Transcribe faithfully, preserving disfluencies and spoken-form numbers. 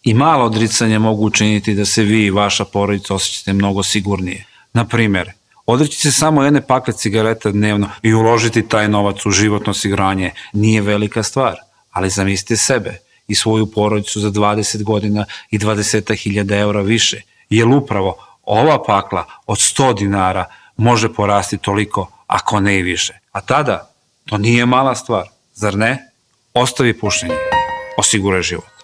I malo odricanja mogu učiniti da se vi i vaša porodica osjećate mnogo sigurnije. Na primjer, odreći se samo jedne pakle cigareta dnevno i uložiti taj novac u životno osiguranje nije velika stvar, ali zamislite sebe i svoju porodicu za dvadeset godina i dvadeset hiljada eura više, jer upravo ova pakla od sto dinara može porasti toliko, ako ne i više. A tada, to nije mala stvar, zar ne? Ostavi pušenje, osiguraj život.